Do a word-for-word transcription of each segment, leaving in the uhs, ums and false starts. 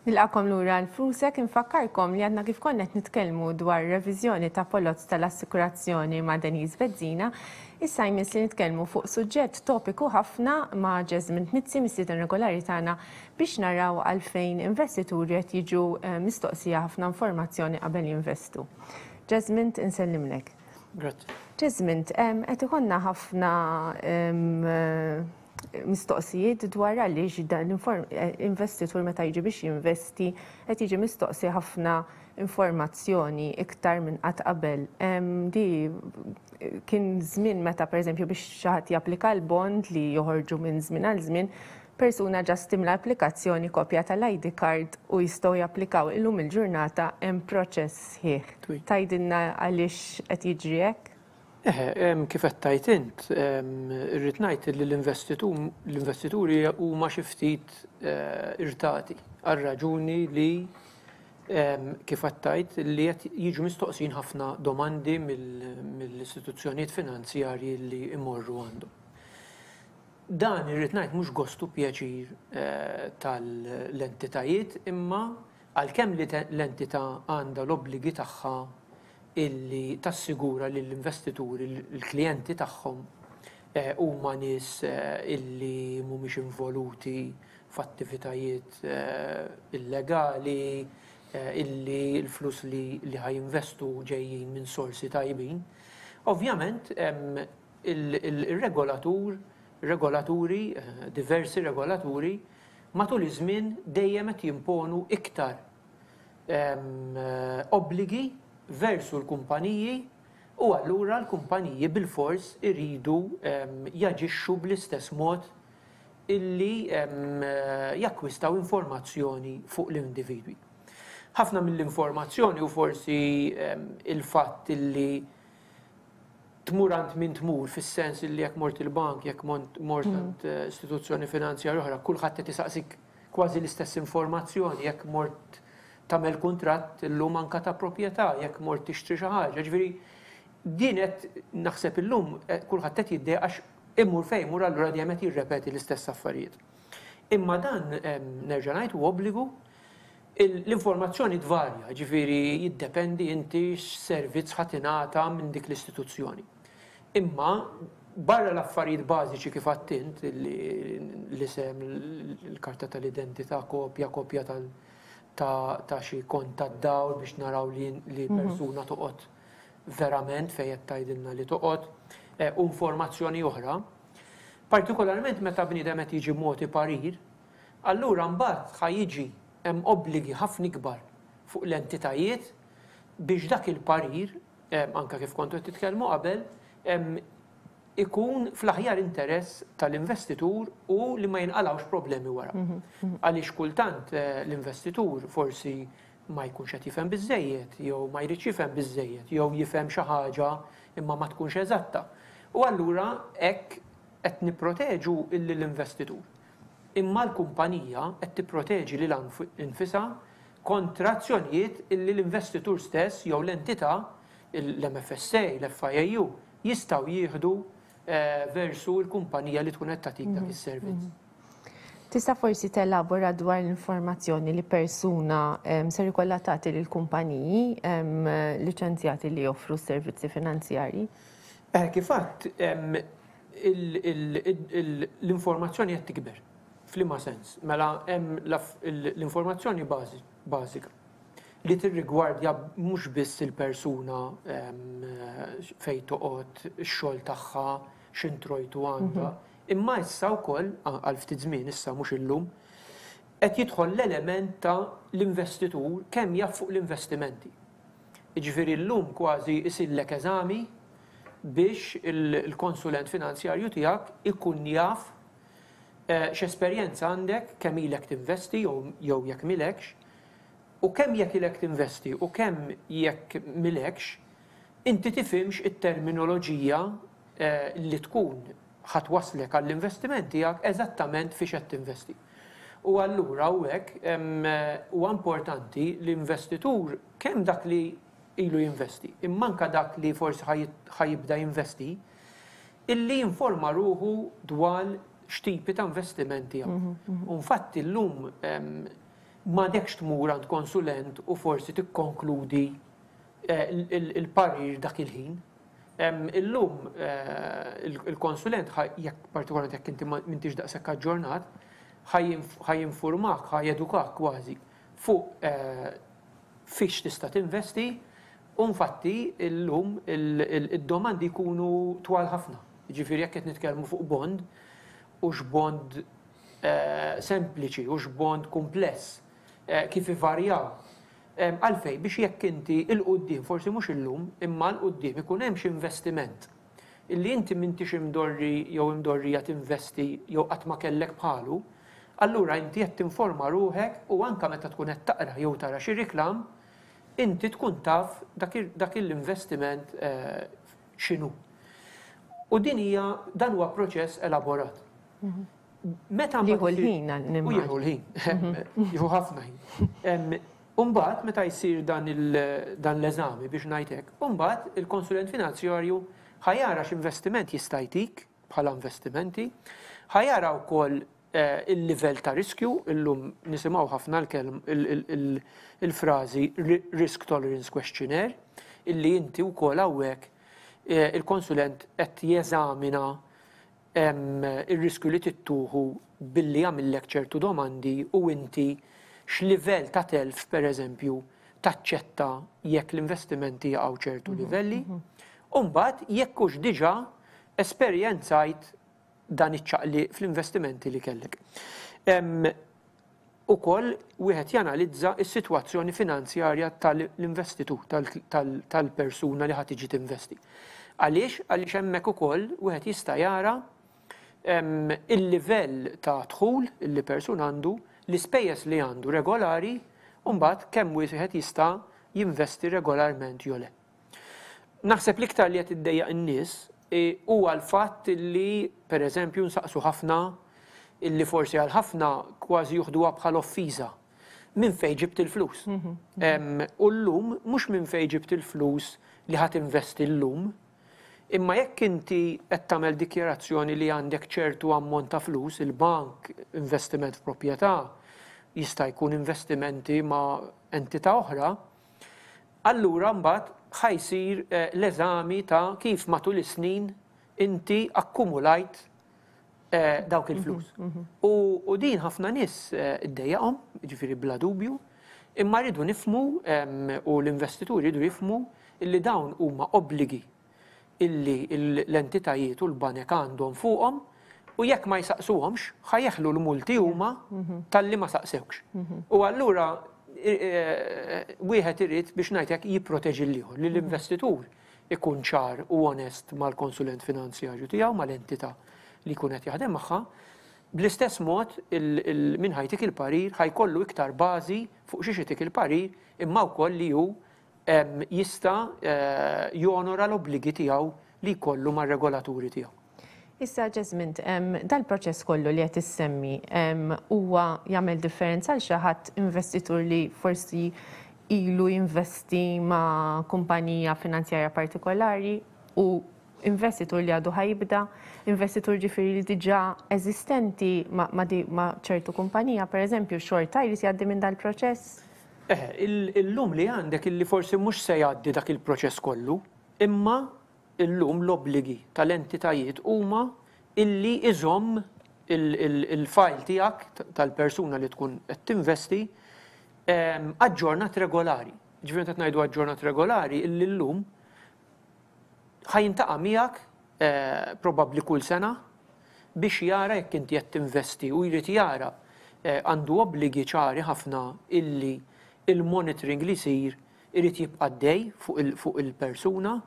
Nilqagħkom lura għal Flusek. Infakkarkom li għadna kif konna qed nitkellmu dwar reviżjoni ta' poloz tal-assikurazzjoni ma' Denise Bezzina. Issa jmiss li nitkellmu fuq suġġett topiku ħafna ma' Jesmond Mizzi, mistieden regolari tagħna, biex naraw għalfejn investituri qed jiġu eh, mistoqsija ħafna informazzjoni qabel jinvestu. Jesmond, insellimlek. Grazzi. Jesmond, qed ikollna ħafna em, mistoqsijiet dwar għaliex dan l-investitur meta jiġi biex jinvesti qed jiġi mistoqsi ħafna informazzjoni iktar minn qatt qabel. Di kien żmien meta, pereżempju, biex xi ħadd japplika l-bond li joħorġu minn żmien għal żmien, persuna just timla applikazzjoni, kopja tal-I D card u jistgħu japplikaw. Illum il-ġurnata hemm proċess sħiħ. Tgħidilna għaliex qed jiġri hekk? Eħe, kif qed tgħid int, irrid ngħid li l-investituri huma xi ftit eh, irritati għal raġuni li, kif qed tgħid, li qed jiġu mistoqsin ħafna domandi mill-istituzzjonijiet finanzjarji li imorru għandhom. Dan, irrid ngħid, mhux gostu pjaċir eh, tal-entitajiet, imma għalkemm li l-entità għandha l-obbligi tagħha illi tassigura li l-investituri, l-klijenti tagħhom eh, huma nies eh, illi mhumiex involuti f'attivitajiet illegali, illi l-flus li li ħa jinvestu ġejjin minn sorsi tajbin. Ovvjament, il-regolatur, regolaturi, diversi regolaturi, matul iż-żmien dejjem qed jimponu iktar obbligi versu l-kumpaniji u allura l-kumpaniji bil-fors iridu jaġixxu bl-istess mod illi jakkwistaw informazzjoni fuq l-individwi. Ħafna mill-informazzjoni u forsi il-fatt illi tmur għand min tmur, fis-sens illi jekk mort il-bank, jekk mort għand eh, istituzzjoni finanzjarja oħra, kulħadd qed isaqsik kważi l-istess informazzjoni, jekk mort tagħmel kuntratt illum anka ta' proprjetà, jekk mort tixtri xi ħaġa. Ġifieri din qed naħseb illum eh, kulħadd qed jiddejjaq għax imur fejn imur allura dejjem qed jirrepeti l-istess affarijiet. Imma dan, nerġa' ngħid, hu obbligu. L-informazzjoni tvarja, ġifieri jiddependi inti x'servizz ħa tingħata minn dik l-istituzzjoni. Imma barra l-affarijiet bażiċi kif għedt int, l-isem, il-karta tal-identità, kopja, kopja tal- ta' xi kont tad-dawl biex naraw li mhm. persuna toqgħod verament fejn qed tgħidilna li toqgħod, eh, u informazzjoni oħra. Partikolarment meta bniedem qed jiġi mogħti parir, allura mbagħad ħa jiġi hemm obbligi ħafna ikbar fuq l-entitajiet biex dak il-parir, anka kif kontu qed titkellmu qabel, ikun fl-aħjar interess tal-investitur u li ma jinqalawx problemi wara. Mhm, mhm. Għaliex kultant eh, l-investitur forsi ma jkunx qed jifhem biżejjed, jew ma jridx jifhem biżejjed, jew jifhem xi ħaġa imma ma tkunx eżatta. U allura hekk qed nipproteġu l-investitur. Imma l-kumpanija qed tipproteġi lilha nfisha kontra azzjonijiet illi l-investitur stess jew l-entità, l-M F S A, l-F I A U, jistgħu jieħdu eh, versu l-kumpanija li tkun qed tagħtik dak mhm, is-servizz. Mhm. Tista' forsi telabora dwar l-informazzjoni li persuna ser ikollha tagħti lil kumpaniji liċenzjati li joffru servizzi finanzjarji? Eh, kif għedt, l-informazzjoni qed tikber. F'liema sens? Mela hemm l-informazzjoni bażika li tirrigwardja mhux biss il-persuna, fejn toqgħod, ix-xogħol tagħha, x'introjtu għandha, mhm. imma issa wkoll għal ftit żmien issa, mhux illum, qed jidħol l-element ta' l-investitur kemm jaf fuq l-investimenti. Jiġifieri llum kważi isirlek eżami biex il-konsulent finanzjarju tiegħek ikun jaf eh, x'esperjenza għandek, kemm ilek tinvesti jew jekk m'ilekx, u kemm jekk ilek tinvesti u kemm jekk m'ilekx, inti tifhimx it-terminoloġija eh, li tkun ħa twasslek għall-investiment tiegħek, eżattament fiex qed tinvesti. U allura u hekk huwa importanti l-investitur, kemm dak li ilu jinvesti, imma anka dak li forsi ħa jibda jinvesti, illi jinforma ruħu dwar x'tipi ta' investimenti hawn. Mhm, mhm. U infatti llum M'għadekx tmur għand konsulent u forsi tikkonkludi il-parir dak il-ħin. Illum il-konsulent, jekk partikolarment jekk inti m'intix daqshekk aġġornat, ħa jinfurmak, ħa jedukak kważi fuq fiex tista' tinvesti, u infatti illum id-domandi jkunu twal ħafna. Ġifieri jekk qed nitkellmu fuq bond, u x'bond sempliċi, u x'bond kumpless, kif ivarjaw. Għalfej, biex jekk inti 'l quddiem, forsi mhux illum, imma 'l quddiem ikun hemm xi investiment illi inti m'intix imdorri jew imdorrija tinvesti jew qatt ma kellek bħalu, allura inti qed tinforma ruħek u anka meta tkun qed taqra jew tara xi riklam, inti tkun taf dak l-investiment x'inhu. U din hija dan huwa proċess elaborat. Meta jieħu l-ħin. U jieħu l-ħin. Jieħu ħafna ħin. Umbagħad meta jsir dan l-eżami, biex ngħidlek, umbagħad il-konsulent finanzjarju ħa jara x'investiment jista' jtik bħala investimenti, ħa jara wkoll il-livell ta' riskju. Illum nisimgħu ħafna il-frażi risk tolerance questionnaire, illi inti wkoll hawnhekk il-konsulent qed jeżamina il-riskju li tieħu billi jagħmillek ċertu domandi u inti x'livell ta' telf, per eżempju, taċċetta jekk l-investimenti jaqgħu ċertu livelli. U mbagħad jekk hux diġà esperjenzajt dan iċ-ċaqli fl-investimenti li kellek. Ukoll wieħed janalizza s-sitwazzjoni finanzjarja tal-investitur, tal-persuna li ħa tiġi tinvesti. Għaliex? Għaliex hemmhekk ukoll wieħed jista' jara il-livell ta' dħul li persuna għandu, l-ispejjeż li għandu regolari, u mbagħad kemm wieħed jista' jinvesti regolarment jew le. Naħseb l-iktar li qed iddejjaq in-nies huwa l-fatt li, pereżempju, nsaqsu ħafna, illi forsi għal ħafna kważi juħduha bħal offiża. Minn fejn ġibt il-flus? U llum mhux minn fejn ġibt il-flus li ħa tinvesti llum, imma jekk inti qed tagħmel dikjarazzjoni li għandek ċertu ammont ta' flus, il-bank, investiment f'proprjetà, jista' jkun investimenti ma' entità oħra, allura mbagħad ħa jsir l-eżami ta' kif matul is-snin inti akkumulajt dawk il-flus. U din ħafna nies iddejjaqhom, ġifieri bla dubju, imma rridu nifhmu u l-investituri rridu jifhmu illi dawn huma obbligi illi l-entitajiet u l-banek għandhom fuqhom, u jekk ma jsaqsuhomx ħa jeħlu l-multi huma talli ma saqsewx. U allura wieħed irid, biex ngħidlek, jipproteġi l-ieħor, li l-investitur ikun ċar u onest mal-konsulent finanzjarju tiegħu, mal-entità li jkun qed jaħdem magħha. Bl-istess mod min ħa jtik il-parir ħa jkollu iktar bażi fuq xiex itik il-parir, imma wkoll li hu jista' jonora l-obbligi tiegħu li jkollu mar-regolaturi tiegħu. Issa, Jesmond, dal-proċess kollu li qed issemmi huwa jagħmel differenza għal xi ħadd investitur li forsi ilu jinvesti ma' kumpanija finanzjarja partikolari u investitur li għadu ħa jibda, investitur ġifieri li diġà eżistenti ma' ċertu kumpanija, per eżempju, xorta jrid jgħaddi minn dal-proċess? Eh, illum li għandek illi forsi mhux se jgħaddi dak il-proċess kollu, imma illum l-obbligi tal-entitajiet huma illi iżomm il-file tiegħek tal-persuna li tkun qed tinvesti aġġornat regolari. Ġifieri qed ngħidu aġġornat regolari illi llum ħa jiltaqa' miegħek probabbli kull sena biex jara jekk inti qed tinvesti u jrid jara, għandu obbligi ċari ħafna illi il-monitoring li jsir irid jibqa' dej fuq il-persuna.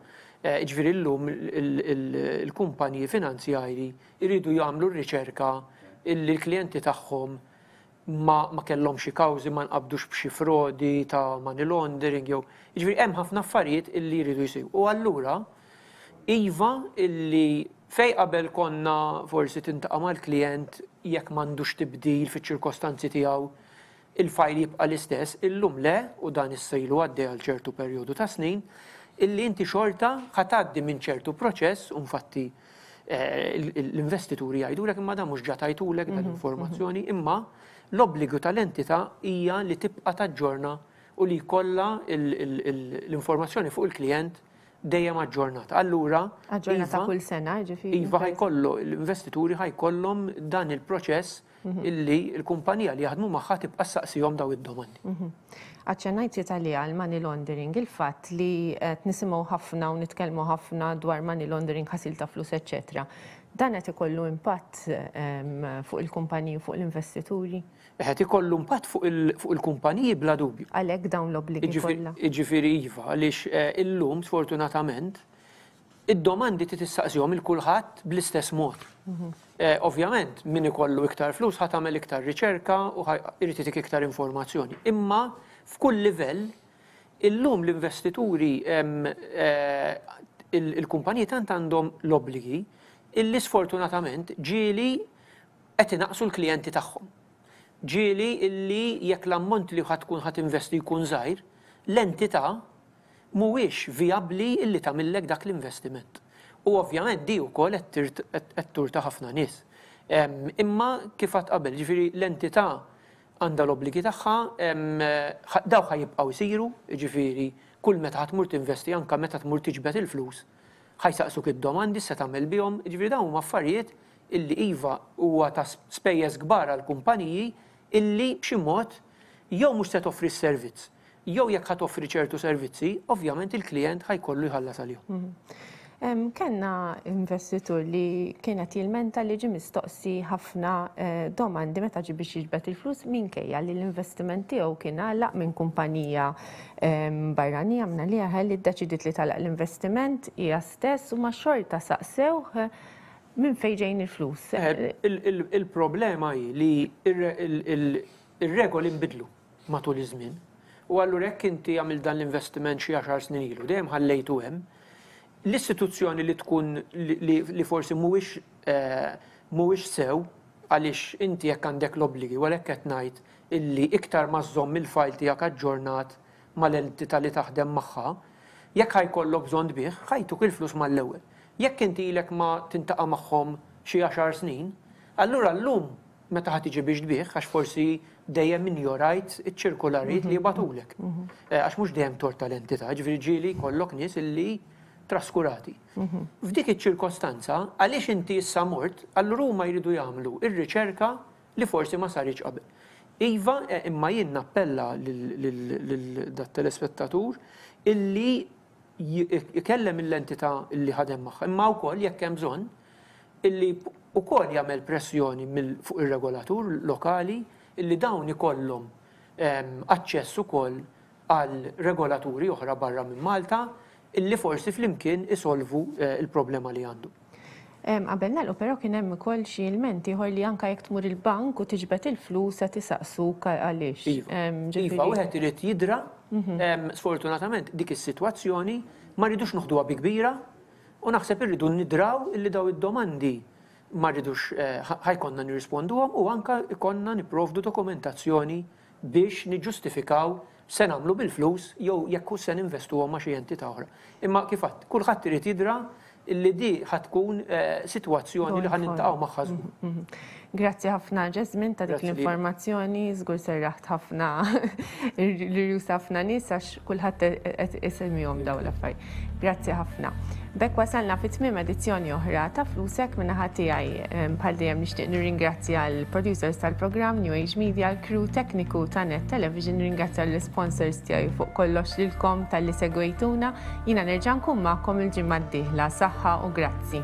Ġifieri llum il-kumpaniji finanzjarji jridu jagħmlu r-riċerka illi l-klijenti tagħhom ma kellhomx xi kawżi, ma nqabdux b'xi frodi ta' money laundering jew, ġifieri hemm ħafna affarijiet illi jridu jsiru. U allura iva, illi fej qabel konna forsi tiltaqa' mal-klient, jekk m'għandux tibdil fiċ-ċirkostanzi tiegħu il-file jibqa' l-istess, illum le, u dan issa ilu għaddej għal ċertu perjodu ta' snin, illi inti xorta ħa tgħaddi minn ċertu proċess, u infatti l-investituri jgħidulek, "Imma dan mhux ġa tajtulek dan informazzjoni?" Imma L-obbligu tal-entità hija li tibqa' taġġorna u li jkollha l-informazzjoni fuq il-klient dejjem aġġornata. Allura, Aġġornata kull sena, ġifieri. Iva, ħa jkollu l-investituri ħa jkollhom dan il-proċess illi l-kumpanija li jaħdmu magħha tibqa' ssaqsihom daw id-domandi. Aċċennajt li għal money laundering, il-fatt li qed nisimgħu ħafna u nitkellmu ħafna dwar money laundering, ħasil ta' flus, eċċetera. Dan qed ikollu impatt fuq il-kumpaniji, fuq l-investituri? Qed ikollu impatt fuq il-kumpaniji bla dubju. Għalhekk dawn l-obbligi kollha. Jiġifieri iva, għaliex illum sfortunatament id-domandi tistaqsihom lil kulħadd bl-istess mod. Ovvjament, min ikollu iktar flus ħa tagħmel iktar riċerka u irid itik iktar informazzjoni. Imma f'kull livell illum l-investituri, il-kumpaniji tant għandhom l-obbligi illi sfortunatament ġieli qed inaqsu l-klijenti tagħhom. Ġieli illi jekk l-ammont li ħa tkun ħa tinvesti jkun żgħir, l-entità mhuwiex vijabbli illi tagħmillek dak l-investiment. U ovvjament di wkoll qed turta ħafna nies. Imma kif għedt qabel, ġifieri l-entità għandha l-obbligi tagħha, daw ħa jibqgħu jsiru, ġifieri kull meta ħa tmur tinvesti, anke meta tmur tiġbed il-flus, ħa jsaqsuk id-domandi se tagħmel bihom, ġifieri dawn huma affarijiet illi iva huwa ta' spejjeż kbar għall kumpaniji illi b'xi mod jew mhux se toffri s-servizz, jew jekk ħa toffri ċertu servizzi, ovvjament il-klient ħa jkollu jħallas għalihom. Kellna investitur li kienet jilmenta li ġi mistoqsi ħafna domandi meta ġi biex jiġbed il-flus, minkejja li l-investiment tiegħu kien għalaq minn kumpanija barranija minna li li ddeċidiet li tagħlaq l-investiment hija stess, u ma xorta saqsewh minn fejn ġejn il-flus. Il-problema hi li ir-regoli nbidlu matul iż-żmien. U allura jekk inti għamil dan l-investiment xi għaxar snin ilu, dejjem ħallejtu hemm, l-istituzzjoni li tkun li forsi mhuwiex mhuwiex sew, għaliex inti jekk għandek l-obbligi, u għalhekk qed ngħid illi iktar ma żżomm il-file tiegħek aġġornat mal-entità li taħdem magħha, jekk ħa jkollok bżonn tbigħ, ħa jtuk il-flus mal-ewwel. Jekk inti ilek ma tintaqa' magħhom xi għaxar snin, allura llum meta ħa tiġi biex tbigħ, għax forsi dejjem injorajt iċ-ċirkularijiet li jibagħtulek. Għax mhux dejjem tort tal-entità, ġifieri ġieli jkollok nies illi traskurati. F'dik iċ-ċirkostanza, għaliex inti issa mort, allura huma jridu jagħmlu ir-riċerka li forsi ma saritx qabel. Iva, imma jien nappella lil dat-telespettatur illi ikellem l-entità illi ħadem magħha, imma wkoll jekk hemm bżonn illi wkoll jagħmel pressjoni fuq ir-regolatur lokali illi dawn ikollhom aċċess ukoll għal regolaturi oħra barra minn Malta illi forsi flimkien isolvu il-problema li għandu. Qabel nagħlqu però kien hemm ukoll xi ilment ieħor li anke jekk tmur il-bank u tiġbed il-flus qed isaqsuk għaliex. Iva, wieħed irid jidra, sfortunatament dik is-sitwazzjoni ma rridux noħduha bi kbira u naħseb irridu nidraw illi daw id-domandi ma rridux ħa jkollna nirrisponduhom u anke ikollna nipprovdu dokumentazzjoni biex niġġustifikaw se nagħmlu bil-flus jew jekk hu se ninvestuhom ma' xi entità oħra. Imma kif għedt, kulħadd irid jidra illi di ħa tkun sitwazzjoni li ħa niltaqgħu magħha żgur. Grazzi ħafna, Jesmond, ta' dik l-informazzjoni, żgur serraħt ħafna l-irjus ħafna nies għax kulħadd qed isemmihom dawn l-affarijiet. Grazzi ħafna. B'hekk wasalna fi tmiem edizzjoni oħra ta' Flusek. Min-naħa tiegħi bħal dejjem nixtieq nirringrazzja l-producers tal-programm New Age Media, l-crew tekniku ta' Net Television, nirringrazzja l-sponsors tiegħi, fuq kollox lilkom talli segwejtuna. Jiena nerġa' nkun magħkom il-ġimgħa d-dieħla. Saħħa u grazzi.